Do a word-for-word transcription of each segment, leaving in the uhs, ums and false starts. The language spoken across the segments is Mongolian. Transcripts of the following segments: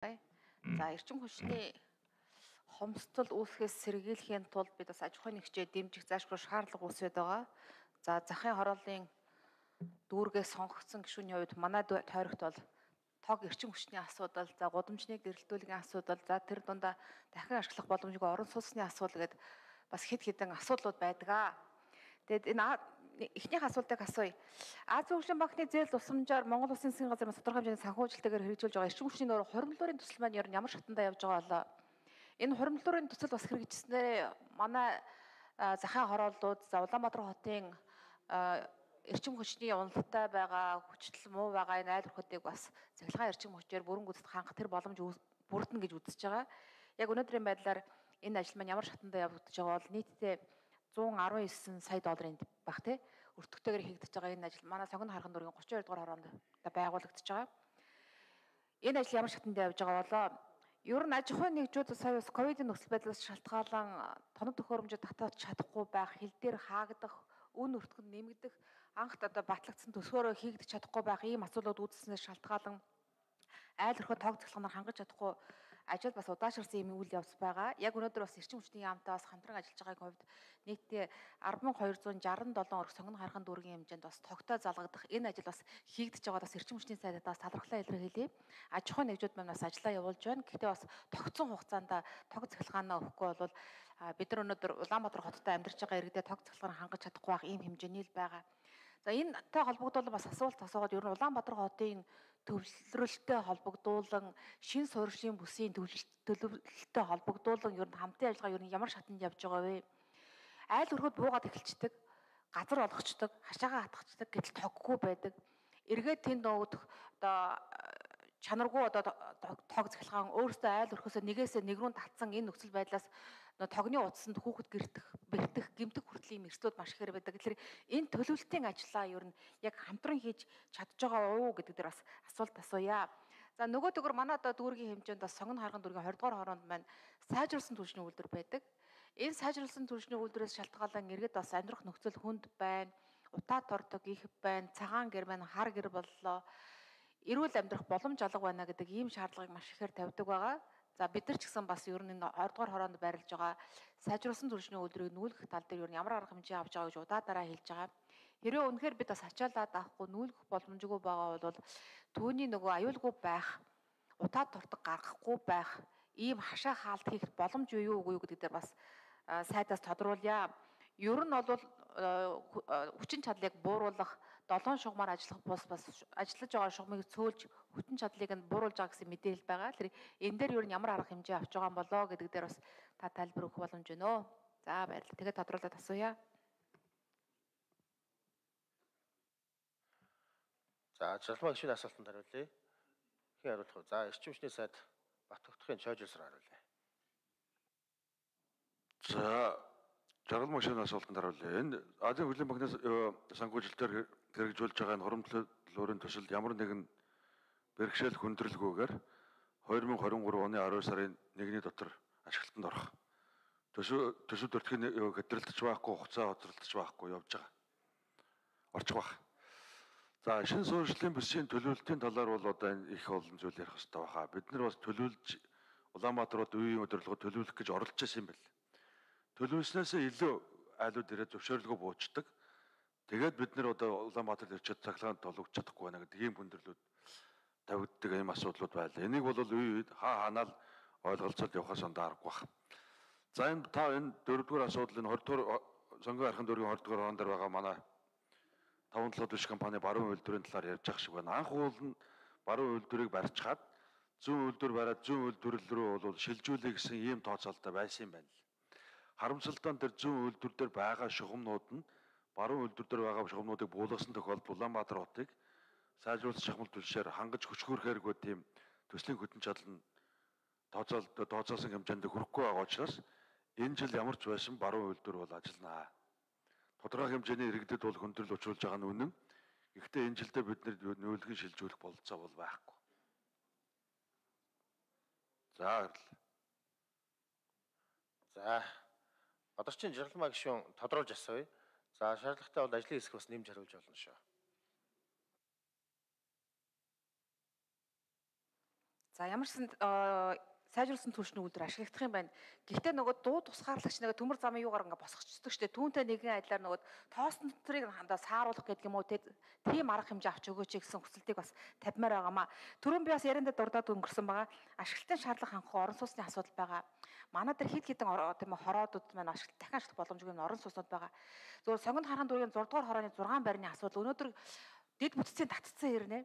За эрчим хүчний хомсдол үүсгэхээс сэргийлэхийн тулд бид бас аж ахуйн нэгжээ дэмжих заашгүй шаардлага үүсээд байгаа. За захын хорооллын дүүргээс сонгогдсон гишүүний хувьд манай тойрогт бол тог эрчим хүчний асуудал, за гудамжны гэрэлтүүлгийн асуудал, за тэр дундаа дахин ашиглах боломжгүй орон сууцны асуудал гэдэг бас хэд хэдэн асуудлууд байдаг. Тэгэд энэ эхнийх асуултыг асууя. Азийн хөгжлийн банкны зээл тусламжаар Монгол Улсын засгийн газар тодорхой хэмжээний санхүүжилтээр хэрэгжүүлж байгаа эрчим хүчний нөр хуримтлуурын төсөл маань ер нь ямар шатандаа явж байгаа болоо. Энэ хуримтлуурын төсөл бас хэрэгжснээр манай захын хорооллууд, за Улаанбаатар хотын эрчим хүчний уналттай байгаа, хүчтэл муу байгаа энэ айл өрхөдийг бас цахилгаан эрчим хүчээр бүрэн гүйцэд хангах тэр боломж бүрдэнэ гэж үзэж байгаа. Яг өнөөдрийн байдлаар энэ ажил маань ямар шатандаа явагдаж байгаа бол нийтдээ зуун арван есөн сая долларын баг тий өртөгтэйгээр хийгдэж байгаа энэ ажил манай Сонгон хархан дүүргийн гурван хоёр дугаар хороонд байгуулагдаж байгаа. Энэ ажил ямар шатандаа явж байгаа болоо ер нь аж ахуйн нэгжүүд сая бас ковидын нөхцөл байдлаас шалтгаалan тоног төхөөрөмжөд татаж чадахгүй байх, хил дээр хаагдах, үн өртгөнд нэмэгдэх, анхт одоо батлагдсан төсөөрөө хийгдэж чадахгүй байх ийм асуудлууд үүсснээс шалтгаалan айл өрхөө тоог цахилгаанаар хангаж чадахгүй ажил бас удаашрсан юм үйл явц байгаа. Яг өнөөдөр бас эрчим хүчний яамтай бас хамтран ажиллаж байгаагийн хувьд нийтдээ арван мянган хоёр зуун шестьдесят seven орх Сонгон хархан дүүргийн хэмжээнд бас тогтоо залгадах энэ ажил бас хийгдэж байгаа бас эрчим хүчний сайдад бас талархлаа илэрхийлье. Аж ахуйн нэгжүүд маань бас ажиллаа явуулж байна. Гэхдээ бас тогтсон хугацаанд тог цахилгаанаа өгөхгүй бол бид нар өнөөдөр Улаанбаатар хоттой амьдарч байгаа иргэдэд тог цахилгаан хангаж чадахгүй байх ийм хэмжээний л байгаа. За энэтэй холбогдуулан бас асуулт асуугаад ер нь Улаанбаатар хотын төвлөрөлттэй холбогдуулан шин суурьшлийн бүсийн төлөвлөлттэй холбогдуулан ер нь хамтын ажиллагаа ер нь ямар шатанд явж байгаа вэ? Айл өрхөд буугаад эхэлцдэг, газар олгочдөг, хашаагаа хатгацдаг гэтэл тоггүй байдаг. Эргээд тэнд нөгөөх одоо чанаргүй одоо тог цахилгаан өөрөөсөө айл өрхөөсөө нэгээсээ нэг рүү татсан энэ нөхцөл байдлаас тогны утсанд хүүхэд гэртэх, бэртэх, гэмтэх хүртлийн эрсдлүүд маш ихээр байдаг. Тэгэхээр энэ төлөвлөлтийн ажлаа ер нь яг хамтран хийж чадж байгаа уу гэдэг дээр бас асуулт асууя. За нөгөө төгөр манай одоо дүүргийн хэмжээнд бас Сонгон хархан дүүргийн двадцать дугаар хороонд маань сайжруулсан түвшний үйлдвэр байдаг. Энэ сайжруулсан түвшний үйлдвэрээс шалтгаалan иргэд бас амьдрах нөхцөл хүнд байна, утаа тордог их байна, цагаан гэр байна, хар гэр боллоо. Эрүүл амьдрах боломж алга байна гэдэг ийм шаардлагыг маш ихээр тавьдаг байгаа. За бид нар ч гэсэн бас ер нь энэ двадцать дугаар хороонд байрлаж байгаа сайжруулсан түвшний үйлдвэрийг нүүлгэх тал дээр ер нь ямар арга хэмжээ авч байгаа гэж удаа дараа хэлж байгаа. Хэрвээ үнэхээр бид бас ачаалаад авахгүй нүүлгэх боломжгүй байгаа бол түүний нөгөө аюулгүй байх, утаа тортог гаргахгүй байх, ийм хашаа хаалт хийх боломж юу үгүй юу гэдэг дээр бас сайдаас тодруулъя. Ер нь бол хүчин чадлыг бууруулах, долоон шугамар ажиллах бус бас ажиллаж байгаа шугамыг цөөлж хүчин чадлыг нь бууруулж байгаа гэсэн мэдээлэл байгаа. Тэр энэ дээр ер нь ямар арга хэмжээ авч байгаа юм болоо гэдэг дээр бас та тайлбар өгөх боломж байна уу? За баярлалаа. Тэгээд тодруулаад асууя. За Жалмаа гишүүний асуултанд хариулъя. Хэн хариулах вэ? За эрчим хүчний сайд Бат Тогтхын Чойжилсаар хариулъя. За Жалмаа гишүүний асуултанд хариулъя. Энэ Азийн хөгжлийн банкнаас санхүүжилтээр хэрэгжүүлж байгаа энэ хуримтлуурын төсөл ямар нэгэн бэрхшээл хүндрэлгүйгээр two thousand twenty-three оны twelve сарын нэгний дотор ашиглалтанд орох. Төсөв төсөв төртгийн хэтрэлдэж байхгүй, хугацаа хоцролдож байхгүй явж байгаа. Орчих баг. За шин суурьшлийн бүсийн төлөвлөлтийн талаар бол одоо энэ их олон зүйл ярих хэрэгтэй баха. Бид нар бас төлөвлөж Улаанбаатарууд үеийн өдөрлөгөө төлөвлөх гэж оролдож байсан юм байна. Төлөвлөснөөс илүү айлууд ирээд зөвшөөрлөгөө буучдаг. Тэгээд бид нар одоо Улаанбаатарт ирчээд цахилгаан толгож чадахгүй байна гэдэг ийм хүндрэлүүд тавигддаг ийм асуудлууд байлаа. Энийг бол үе үед хаа ханаал ойлголцоод явахаас ондоо аргагүй байна. За энэ та энэ дөрөвдүгээр асуудал энэ twenty дугаар Сонгон хархан дүүргийн twenty дугаар хороон дээр байгаа манай таван толгой биш компани баруун үйлдвэрийн талаар ярьж байгаа шиг байна. Анх уул нь баруун үйлдвэрийг барьцгаад зүүн үйлдвэр бариад зүүн үйлдвэрлэл рүү бол шилжүүлэх гэсэн ийм тооцоололтой байсан юм байна. Харамсалтай нь тэр зүүн үйлдвэр дээр байгаа шугамнууд нь баруун үйлдвэр дээр байгаа шугамнуудыг буулгасан тохиолдолд Улаанбаатар хотыг сайжруулах шахмал түлшээр хангаж хөшгөөрөхээргүй тийм төслийн хөтөн чадал нь тооцоол тооцоосон хэмжээнд хүрэхгүй байгаа учраас энэ жил ямар ч байсан баруун үйлдвэр бол ажилланаа. Тодорхой хэмжээний иргэдэд бол хөндрөл учруулж байгаа нь үнэн. Гэхдээ энэ жилдээ бид нэр нүүлгэн шилжүүлэх бололцоо бол байхгүй. За баярлалаа. За Бадарчин Жалмаа гишүүн тодруулж асууя. За шаардлагатай бол ажлын хэсэг бас нэмж хариулж болно шүү. За ямар ч сан сайжруулсан түлшний үйлдвэр ашиглагдах юм байна. Гэхдээ нөгөө дуу тусгаарлагч нэг төмөр замын юугаар ингээ босгочдөг штэ. Түүнтэй нэгэн адилаар нөгөө тоосон дотрыг хандаа сааруулах гэдэг юм уу тийм арга хэмжээ авч өгөөч гэсэн хүсэлтийг бас тавьмаар байгаамаа. Түрүүн би бас яриандаа дурдаад өнгөрсөн байгаа. Ашиглалтын шаардлага хангах орон сууцны асуудал байгаа. Манай дээр хэд хэдэн тийм хороодууд маань ашиглалт дахин ашиглах боломжгүй орон сууцнууд байгаа. Зөвхөн сонгонд хархан дүүргийн зураг дугаар хорооны зургаан байрны асуудал өнөөдөр дэд бүтцийн татцсан хэрнээ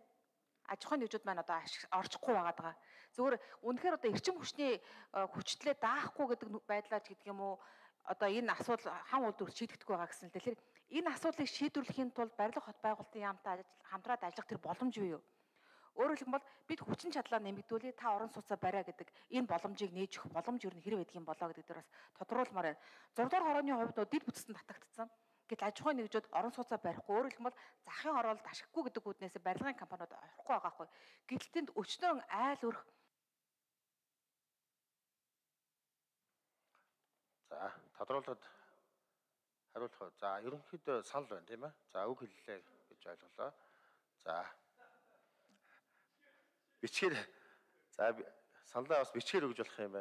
аж ахуйн нэгжүүд маань одоо орчихгүй байгаад байгаа. Зөвхөн үнэхээр одоо эрчим хүчний хүчлээ даахгүй гэдэг байдлаач гэдэг юм уу одоо энэ асуудал хан үйлдвэр шийдэгдэхгүй байгаа гэсэн л дээ. Тэгэхээр энэ асуудлыг шийдвэрлэхийн тулд барилга хот байгуулалтын яамтай хамтраад ажиллах тэр боломж юу юу? Өөрөөр хэлбэл бид хүчин чадлаа нэмэгдүүлээ та орон сууцаа бариа гэдэг энэ боломжийг нээж өгөх боломж юу н хэрэг байдаг юм болоо гэдэг дээр бас тодруулмаар байна. зураг дугаар хорооны хувьд нөө дэд бүтцэнд татагдсан. Гэтэл аж ахуйн нэгжүүд орон сууцаа барихгүй өөрөөр хэлбэл захын хороолт ашиггүй гэдэг үүднээс барилгын компаниуд орохгүй байгаа хгүй. Гэтэл тэнд өчнөн айл өрх. За тодруулаад хариулах. За ерөнхийдөө санал байна тийм ээ. За үг хэллээ гэж ойлголоо. За бичгээр за саналаа бас бичгээр өгж болох юм байна.